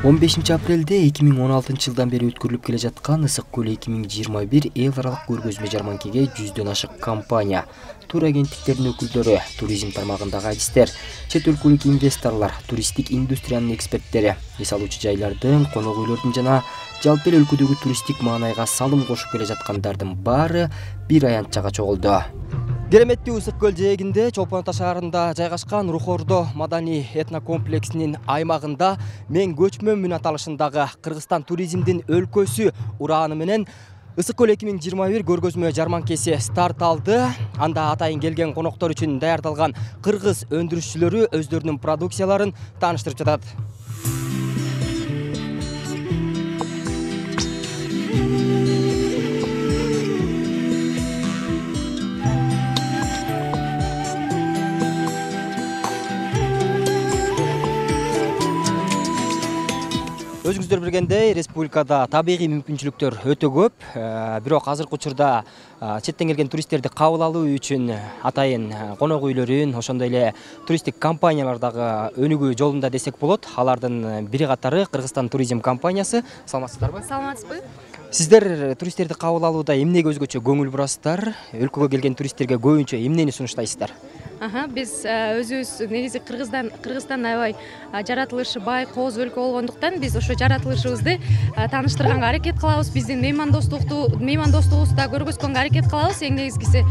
15 апрелде 2016 жылдан бери өткөрүлүп келе жаткан Ысык көл 2021 эл аралык көргөзмө жарманкеге 100дөн ашык компания, тур агенттиктердин өкүлдөрү, туризм тармагындагы адистер, чет өлкөлүк инвесторлор, туристтик индустриянын эксперттери, эс алуучу жайлардын, конок үйлөрдүн жана жалпы эле өлкөдөгү туристтик маанайга салым кошуп келе жаткандардын баары бир аянтчага чогулду. Кереметтүү Ысык көл жээгинде Чолпон Ата шаарында жайгашкан Рухордо маданий этнокомплексинин аймагында мен көчмөнмүн аталышындагы Кыргызстан туризмдин өлкөсү урааны менен Ысык көл 2021 көргөзмө жарманкеси старт алды. Анда атайын келген коноктор үчүн даярдалган кыргыз өндүрүшчүлөрү өздөрүнүн продукцияларын тааныштырып жатат. Өзүңүздөр билгендей, республикада табигый мүмкүнчүлүктөр өтө көп. Бирок азыркы учурда четтен келген туристтерди кабыл алуу үчүн атайын конок үйлөрүн, ошондой эле туристтик компаниялар дагы өнүгүү жолунда десек болот. Алардын бири катары Кыргызстан туризм компаниясы. Саламатсыздарбы? Саламатсызбы? Сиздер туристтерди кабыл алууда эмнеге өзгөчө көңүл бурасыздар? Өлкөгө келген туристтерге көбүнчө эмнени сунуштайсыздар? Биз өзүбүз негизи Кыргызстан аябай жаратылышы бай, кооз өлкө болгондуктан биз ошо жаратылышыбызды тааныштырганга аракет кылабыз. Биздин меймандостугубузду да көргөзгөнгө аракет кылабыз. Эң негизгиси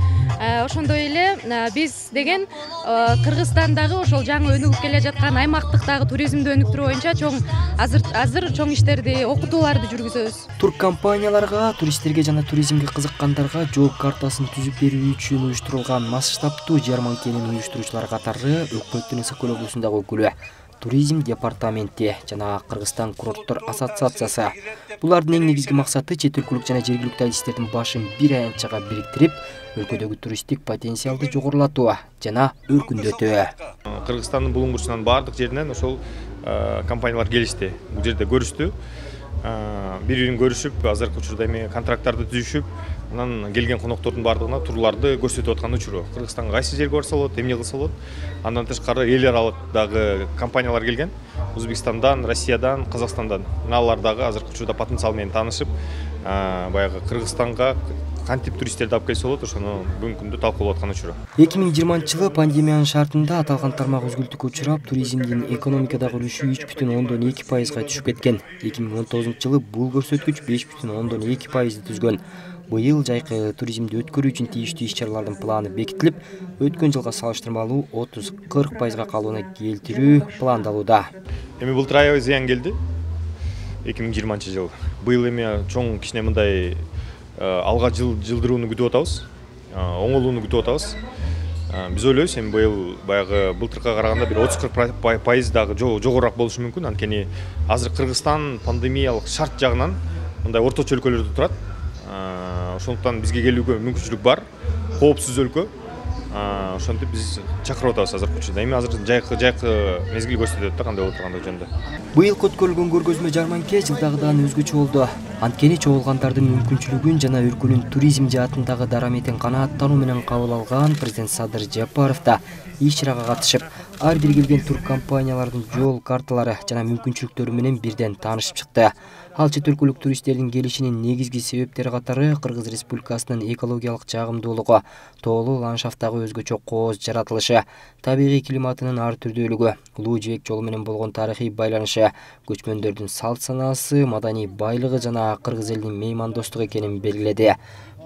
ошондой эле биз деген Кыргызстандагы ошол жаңы өнүгүп келе жаткан аймактыктагы туризмди өнүктүрүү боюнча азыр чоң иштерди, окутууларды жүргүзөбүз. Тур компанияларга, туристтерге жана туризмге кызыккандарга жол картасын түзүп берүү үчүн уюштурулган масштабтуу жарманкенин уюштуруучулар катары Өкмөттүн Ысык көл облусундагы өкүлү, туризм департаменти жана Кыргызстан курорттор ассоциациясы. Булардын эң негизги максаты чет өлкөлүк жана жергиликтүү адистердин башын бир аянтчага бириктирип, өлкөдөгү туристтик потенциалды жогорулатуу жана өркүндөтүү. Кыргызстандын булуңгурчунан баардык жеринен ошол компаниялар келишти. Бул жерде көрүштү. Бири-бирин көрүшүп, азыркы учурда эми контракттарды түзүшүп, анан келген коноктордун баардыгына турларды көрсөтүп аткан учуру. Кыргызстанга кайсы жерге барса болот, эмне кылса болот. Андан тышкары эл аралык дагы компаниялар келген. Өзбекстандан, Россиядан, Казакстандан. Алар дагы азыркы учурда потенциал менен таанышып, баягы Кыргызстанга кантип туристтерди алып келсе болот, ошону бүгүнкү күндө талкуулап аткан учуру. 2020-жылы пандемиянын шартында аталган тармак үзгүлтүккө учурап, туризмдин экономикадагы үлүшү 3,2%га түшүп кеткен. 2019-жылы бул көрсөткүч 5,2%ды түзгөн. Быйыл жайкы туризмди өткөрүү үчүн тийиштүү иш-чаралардын планы бекитилип, өткөн жылга салыштырмалуу 30-40%га калыбына келтирүү пландалууда. Эми былтыр аябай зыян келди. 2020-жыл. Быйыл эми чоң кичине мындай алга жылдырууну күтүп атабыз, оңолууну күтүп атабыз. Биз ойлойбуз, эми быйыл баягы былтыркыга караганда бир 30-40% дагы жогорураак болушу мүмкүн. Анткени азыр Кыргызстан пандемиялык шарт жагынан мындай орточо өлкөлөрдө турат. Ошондуктан бизге келүүгө мүмкүнчүлүк бар. Коопсуз өлкө. Ошентип биз чакырып атабыз азыркы учурда. Эми азыр жайкы мезгил көрсөтөт да кандай болот тургандыгы жөнүндө. Быйыл өткөрүлгөн көргөзмө жарманке жылдагыдан өзгөчө болду. Анткени чогулгандардын мүмкүнчүлүгүн жана өлкөнүн туризм жаатындагы дараметин канааттануу менен кабыл алган президент Садыр Жапаров да иш-чарага катышып, ар бир келген тур компаниялардын жол карталары жана мүмкүнчүлүктөрү менен бирден таанышып чыкты. Ал чет өлкөлүк туристтердин келишинин негизги себептери катары Кыргыз Республикасынын экологиялык жагымдуулугу, тоолуу ландшафттагы өзгөчө кооз жаратылышы, табигый климатынын ар түрдүүлүгү, улуу жибек жолу менен болгон тарыхый байланышы, көчмөндөрдүн салт санаасы, маданий байлыгы жана кыргыз элинин меймандостугу экенин белгиледи.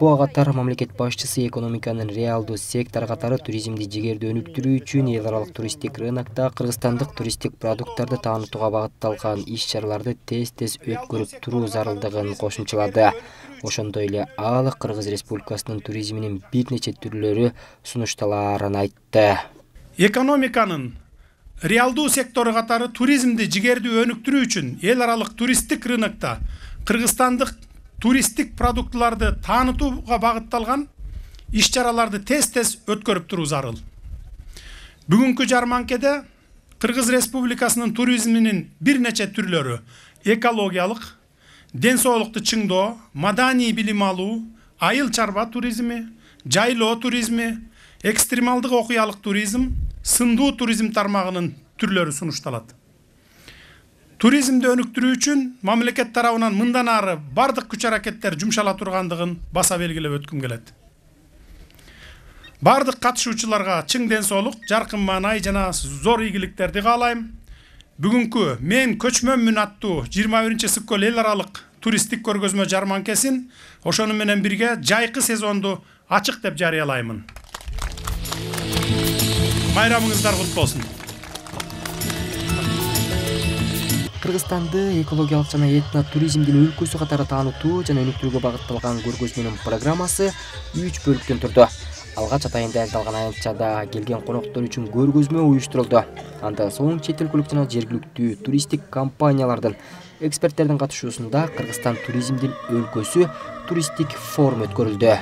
Буга катар мамлекет башчысы экономиканын реалдуу сектору катары туризмди жигердүү өнүктүрүү үчүн эл аралык туристтик рынокто кыргызстандык туристтик продукттарды таанытууга багытталган иш-чараларды тез өткөрүп туруу зарылдыгын кошумчалады. Ошондой эле ал Кыргыз Республикасынын туризминин бир нече түрлөрү сунушталаарын айтты. Экономиканын реалдуу сектору катары туризмди жигердүү өнүктүрүү үчүн эл аралык туристтик рынокто кыргызстандык туристтик продуктларды таанытууга багытталган иш-чараларды тез өткөрүп туруу зарыл. Бүгүнкү жарманкеде Кыргыз Республикасынын туризминин бир нече түрлөрү экологиялык, ден соолукту чыңдоо, маданий билим алуу, айыл чарба туризми, жайлоо туризми, экстремалдык окуялык туризм, сындуу туризм тармагынын түрлөрү сунушталат. Туризмди өнүктүрүү үчүн мамлекет тарабынан мындан ары бардык күч аракеттер жумшала тургандыгын баса белгилеп өткүм келет. Бардык катышуучуларга чың ден соолук, жаркын маанай жана зор ийгиликтерди каалайм. Бүгүнкү мен көчмөнмүн аттуу 21-Сыккөл эл аралык туристтик көргөзмө жарманкесин ошону менен бирге жайкы сезонду ачык деп жарыялаймын. Байрамыңыздар кут болсун. Кыргызстанды экологиялык жана этно туризмдин өлкөсү катары таанытуу жана өнүктүрүүгө багытталган көргөзмөнүн программасы 3 бөлүктөн турду. Алгач атайын даярдалган аянтчада келген коноктор үчүн көргөзмө уюштурулду. Андан соң чет өлкөлүк жана жергиликтүү туристтик компаниялардын эксперттердин катышуусунда Кыргызстан туризмдин өлкөсү туристтик форум өткөрүлдү.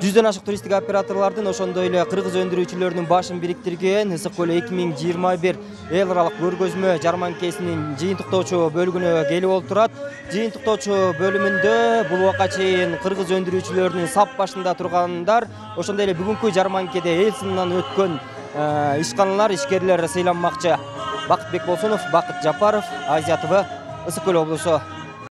100дөн ашык туристтик операторлордун ошондой эле кыргыз өндүрүүчүлөрүнүн башын бириктирген Ысык-Көл 2021 эл аралык көргөзмө жарманкесинин жыйынтыктоочу бөлүгүнө келип олтурат. Жыйынтыктоочу бөлүмүндө бул убакка чейин кыргыз өндүрүүчүлөрүнүн сап башында тургандар, ошондой эле бүгүнкү жарманкеде эл сынынан өткөн ишканалар, ишкерлер сыйланмакчы. Бакытбек Болсунов, Бакыт Жапаров, Азия ТВ, Ысык-Көл облусу.